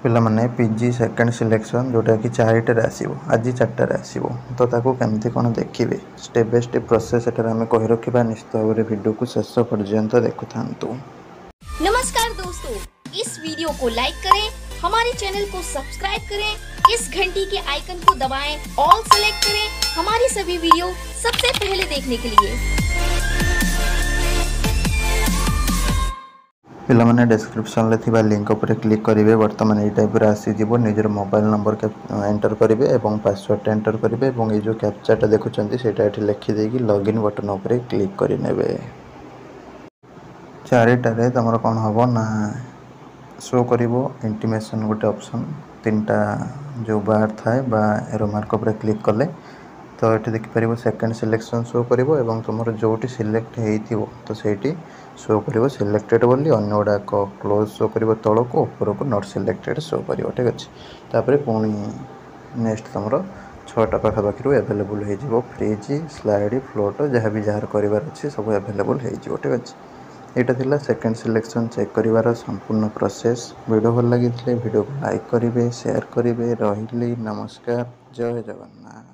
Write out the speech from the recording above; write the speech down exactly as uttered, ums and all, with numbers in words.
ପିଲାମାନେ P G second selection ଯେଉଁଟାକି ଚାରିଟାରେ ଆସିବ ଆଜି ଚାରିଟାରେ ଆସିବ ତ ତାକୁ କେମିତି କ'ଣ ଦେଖିବେ ଷ୍ଟେପ୍ ବାଇ ଷ୍ଟେପ୍ ପ୍ରୋସେସ୍ ଏଠାରେ ଆମେ କହି ରଖିବା ନିଶ୍ଚିତ ଭାବରେ ଭିଡ଼ିଓକୁ ଶେଷ ପର୍ଯ୍ୟନ୍ତ ଦେଖୁଥାନ୍ତୁ नमस्कार दोस्तों इस वीडियो को लाइक करें हमारे चैनल को सब्सक्राइब करें इस घंटी के आइकन को दबाएं, ऑल सेलेक्ट करें हमारी सभी वीडियो सबसे पहले देखने के लिए ପିଲାମାନେ ଡେସ୍କ୍ରିପସନ୍ରେ ଥିବା ଲିଙ୍କ ଉପରେ କ୍ଲିକ୍ କରିବେ ବର୍ତ୍ତମାନ ଏଇ ଟାଇପ୍ର ଆସିଯିବ ନିଜର ମୋବାଇଲ୍ ନମ୍ବର ଏଣ୍ଟର କରିବେ ଏବଂ ପାସୱାର୍ଡ଼ଟା ଏଣ୍ଟର କରିବେ ଏବଂ ଏଇ ଯେଉଁ କ୍ୟାପଚାଟା ଦେଖୁଛନ୍ତି ସେଇଟା ଏଠି ଲେଖିଦେଇକି ଲଗ୍ଇନ୍ ବଟନ୍ ଉପରେ କ୍ଲିକ୍ କରିନେବେ ଚାରିଟାରେ ତୁମର କ'ଣ ହେବ ନା ଶୋ କରିବ ଇଣ୍ଟିମେସନ୍ ଗୋଟେ ଅପସନ୍ ତିନିଟା ଯେଉଁ ବାର୍ ଥାଏ ବା ଏରୋ ମାର୍କ ଉପରେ କ୍ଲିକ୍ କଲେ ତ ଏଠି ଦେଖିପାରିବ ସେକେଣ୍ଡ ସିଲେକ୍ସନ୍ ଶୋ କରିବ ଏବଂ ତୁମର ଯେଉଁଠି ସିଲେକ୍ଟ ହେଇଥିବ ତ ସେଇଠି ଶୋ କରିବ ସିଲେକ୍ଟେଡ଼ ବୋଲି ଅନ୍ୟ ଗୁଡ଼ାକ କ୍ଲୋଜ୍ ଶୋ କରିବ ତଳକୁ ଉପରକୁ not selected show କରିବ ଠିକ୍ ଅଛି ତାପରେ ପୁଣି ନେକ୍ସଟ ତୁମର ଛଅଟା ପାଖାପାଖିରୁ ଆଭେଲେବୁଲ୍ ହେଇଯିବ ଫ୍ରିଜ୍ ସ୍ଲାଇଡ଼ ଫ୍ଲୋଟ୍ ଯାହା ବି ଯାହାର କରିବାର ଅଛି ସବୁ ଆଭେଲେବୁଲ୍ ହେଇଯିବ ଠିକ୍ ଅଛି ଏଇଟା ଥିଲା ସେକେଣ୍ଡ ସିଲେକ୍ସନ୍ ଚେକ୍ କରିବାର ସମ୍ପୂର୍ଣ୍ଣ ପ୍ରୋସେସ୍ ଭିଡ଼ିଓ ଭଲ ଲାଗିଥିଲେ ଭିଡ଼ିଓକୁ ଲାଇକ୍ କରିବେ ସେୟାର କରିବେ ରହିଲି ନମସ୍କାର ଜୟ ଜଗନ୍ନାଥ